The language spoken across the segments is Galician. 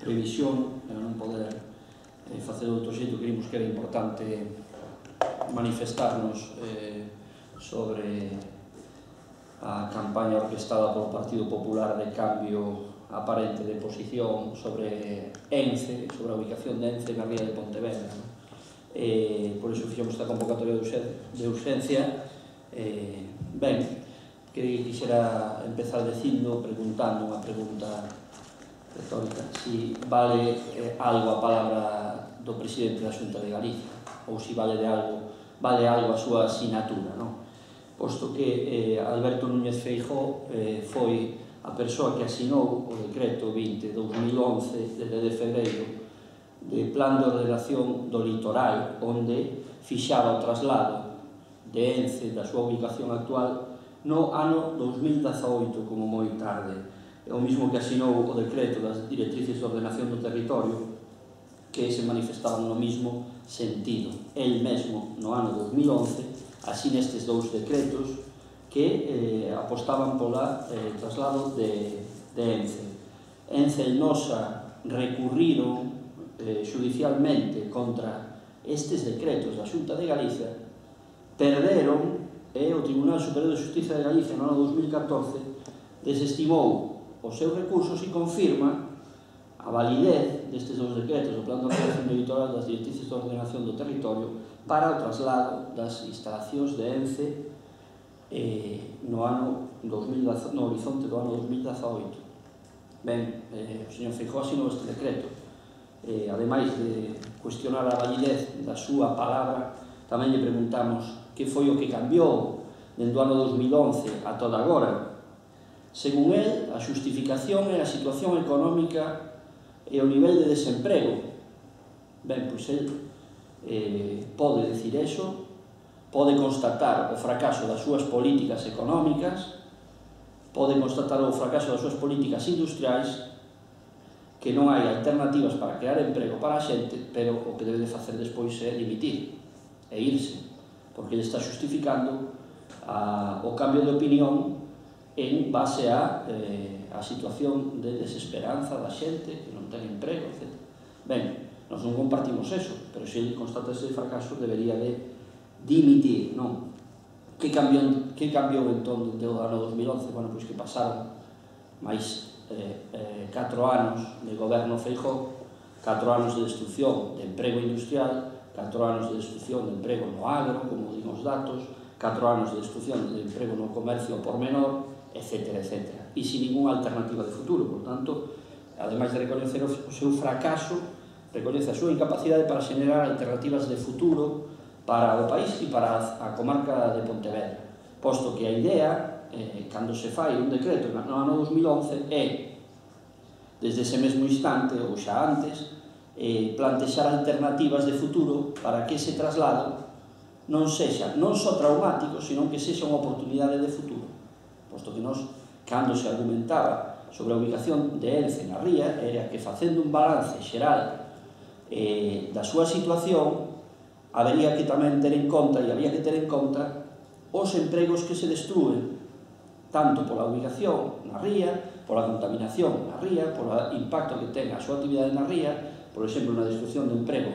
previsión, para non poder facer de outro xeito, creímos que era importante manifestarnos sobre a campaña orquestada polo Partido Popular de cambio aparente de posición sobre ENCE, sobre a ubicación de ENCE na ría de Pontevedra. Por iso fixemos esta convocatoria de urgencia. Ben, que quixera empezar preguntando unha pregunta retórica, si vale algo a palabra do presidente da Xunta de Galicia, ou si vale algo a súa sinatura, non? Posto que Alberto Núñez Feijóo foi a persoa que asinou o decreto 20/2011 de febreiro de Plan de Ordenación do Litoral, onde fixaba o traslado de ENCE da súa ubicación actual no ano 2018, como moi tarde. É o mismo que asinou o decreto das directrices de ordenación do territorio, que se manifestaban no mismo sentido. El mesmo, no ano 2011, así nestes dous decretos que apostaban pola traslado de ENCE. ENCE e Nosa recurriron judicialmente contra estes decretos da Xunta de Galicia, perderon, e o Tribunal Superior de Justiza de Galicia no ano 2014 desestimou os seus recursos e confirma a validez destes dous decretos do Plan de Ordenación do Litoral das directrices de ordenación do territorio para o traslado das instalacións de ENCE no horizonte do ano 2018. Ben, o señor Feijóo asinou este decreto. Ademais de cuestionar a validez da súa palabra, tamén lle preguntamos que foi o que cambiou dende o ano 2011 a toda agora. Según el, a xustificación é a situación económica e o nivel de desemprego. Ben, pois el pode decir eso, pode constatar o fracaso das súas políticas económicas, pode constatar o fracaso das súas políticas industriais, que non hai alternativas para crear emprego para a xente, pero o que debe de facer despois é dimitir e irse, porque ele está justificando o cambio de opinión en base a situación de desesperanza da xente que non ten emprego, etc. Ben, nós non compartimos eso, pero se ele constata ese fracaso debería de dimitir, non? Que cambiou entón desde o ano 2011? Bueno, pois que pasaron máis 4 anos de goberno Feijóo, 4 anos de destrucción de emprego industrial, 4 anos de destrucción de emprego no agro, como din os datos, 4 anos de destrucción de emprego no comercio por menor, etc. E sin ninguna alternativa de futuro. Por tanto, ademais de recoñecer o seu fracaso, recoñece a súa incapacidade para xenerar alternativas de futuro para o país e para a comarca de Pontevedra, posto que a idea, cando se fai un decreto no ano 2011, é, desde ese mesmo instante, ou xa antes, plantexar alternativas de futuro para que ese traslado non sexa non só traumático, sino que sexa unha oportunidade de futuro, posto que nós, cando se argumentaba sobre a ubicación de ENCE na ría, era que facendo un balance xeral da súa situación, habería que tamén ter en conta, e había que ter en conta, os empregos que se destruen, tanto pola ubicación na ría, pola contaminación na ría, polo impacto que ten a súa actividade na ría, por exemplo, na destrucción de emprego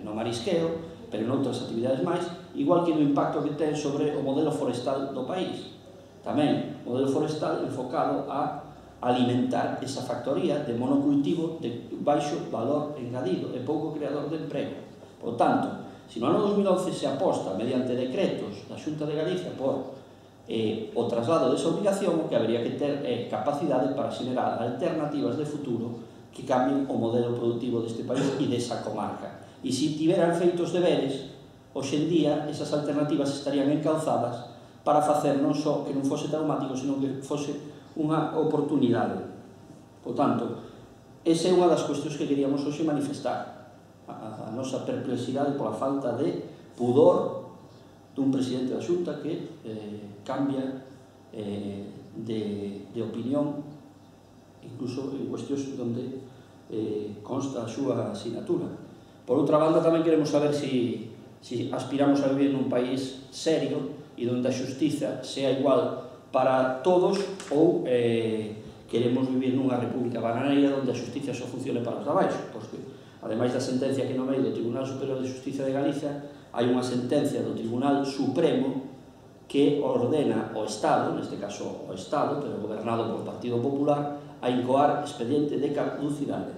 no marisqueo, pero noutras actividades máis, igual que no impacto que ten sobre o modelo forestal do país. Tamén, modelo forestal enfocado a alimentar esa factoría de monocultivo de baixo valor engadido e pouco creador de emprego. Por tanto, se no ano 2011 se aposta mediante decretos da Xunta de Galicia por o traslado desa obligación, o que habería que ter capacidade para xenerar alternativas de futuro que cambien o modelo productivo deste país e desa comarca. E se tiveran feitos deberes, hoxe en día esas alternativas estarían encauzadas para facer non só que non fose traumático, senón que fose unha oportunidade. Por tanto, esa é unha das cuestións que queríamos hoxe manifestar, a nosa perplexidade pola falta de pudor dun presidente da Xunta que cambia de opinión, incluso en cuestións onde consta a súa asignatura. Por outra banda, tamén queremos saber se aspiramos a vivir nun país serio e onde a xustiza sea igual para todos ou queremos vivir nunha república bananeira onde a xustiza só funcione para os de abaixo, porque, ademais da sentencia que no medio do Tribunal Superior de Justicia de Galicia, hai unha sentencia do Tribunal Supremo que ordena ao Estado, neste caso ao Estado, pero gobernado por Partido Popular, a incoar expediente de caducidade.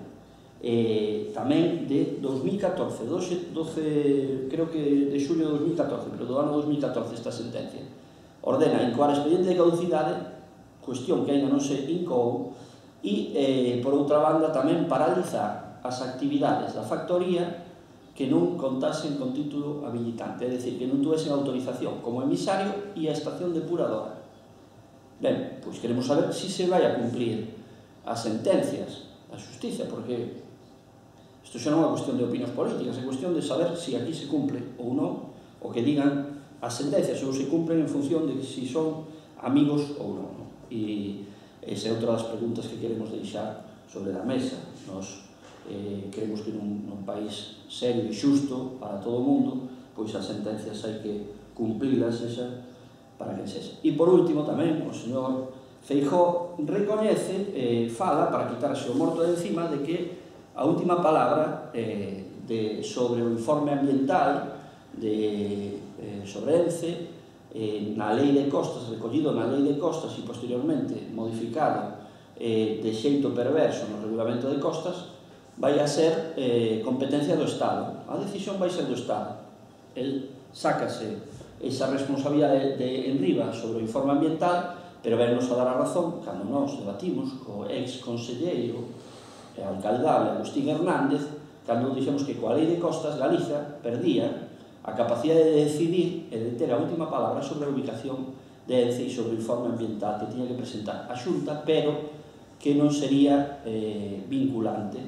Tamén de 2014, 12, creo que de xulio de 2014, pero do ano 2014 esta sentencia, ordena incoar expediente de caducidade, cuestión que ainda non se incoou, e, por outra banda, tamén paralizar as actividades da factoría que non contasen con título habilitante, é dicir, que non tuvesen autorización como emisario e a estación depuradora. Ben, pois queremos saber se se vai a cumprir as sentencias da xustiza, porque isto xa non é unha cuestión de opinións políticas, é cuestión de saber se aquí se cumple ou non o que digan as sentencias, ou se cumplen en función de se son amigos ou non. E esa é outra das preguntas que queremos deixar sobre a mesa. Nos creemos que nun país serio e xusto para todo o mundo, pois as sentencias hai que cumplilas para que sexa. E por último tamén o señor Feijóo recoñece, fala, para quitarse o morto de encima, de que a última palabra sobre o informe ambiental sobre ENCE, na lei de costas, recollido na lei de costas e posteriormente modificado de xeito perverso no regulamento de costas, vai a ser competencia do Estado. A decisión vai ser do Estado. El sácase esa responsabilidade de enriba sobre o informe ambiental, pero vennos a dar a razón cando nós debatimos co ex-conselleiro e alcaldable Agustín Hernández, cando dixemos que coa lei de costas Galicia perdía a capacidade de decidir e de ter a última palabra sobre a ubicación de ENCE e sobre o informe ambiental que tiña que presentar a Xunta, pero que non sería vinculante,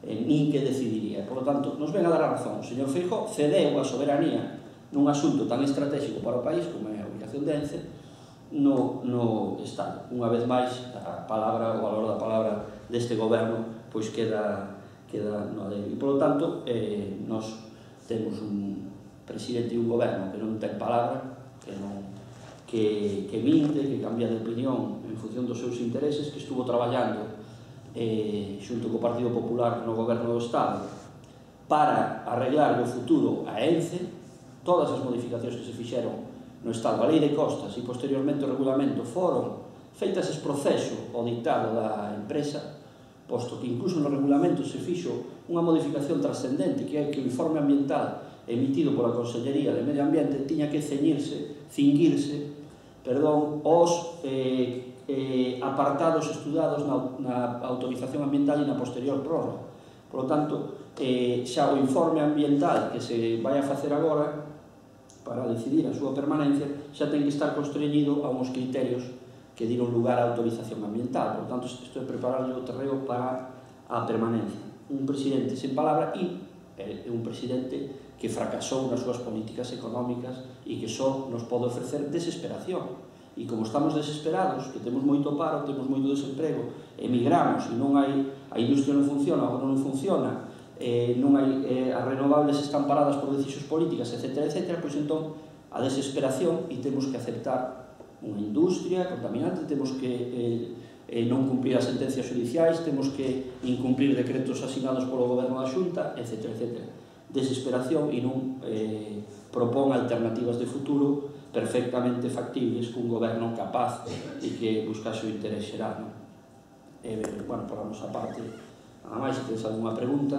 nin que decidiría. Por lo tanto, nos ven a dar a razón. O señor Feijóo cedeu a soberanía nun asunto tan estratégico para o país como é a ubicación de ENCE no Estado. Unha vez máis, a palabra, o valor da palabra deste goberno, pois queda no alero. E, por lo tanto, nos temos un presidente e un goberno que non ten palabra, que minte, que cambia de opinión en función dos seus intereses, que estuvo traballando xunto co Partido Popular no goberno do Estado para arreglar o futuro a ENCE. Todas as modificacións que se fixeron no Estado, a lei de costas e posteriormente o regulamento, foron feitas ese proceso ao dictado da empresa, posto que incluso no regulamento se fixo unha modificación trascendente, que é que o informe ambiental emitido pola Consellería de Medio Ambiente tiña que cinguirse aos apartados estudados na autorización ambiental e na posterior prórroga. Por lo tanto, xa o informe ambiental que se vai a facer agora para decidir a súa permanencia xa ten que estar constreñido a uns criterios que dieron lugar á autorización ambiental. Por lo tanto, isto é prepararle o terreo para a permanencia. Un presidente sen palabra e un presidente que fracasou nas súas políticas económicas e que só nos pode ofrecer desesperación. E como estamos desesperados, que temos moito paro, temos moito desemprego, emigramos e non hai, a industria non funciona, agora non funciona, non hai, as renovables están paradas por decisións políticas, etc., pois entón a desesperación, e temos que aceptar unha industria contaminante, temos que non cumprir as sentencias judiciais, temos que incumprir decretos asinados polo goberno da Xunta, etc. Desesperación e non propón alternativas de futuro perfectamente factibles cun goberno capaz e que buscase o interés xeral. Bueno, por a nosa parte, nada máis, se tens algunha pregunta.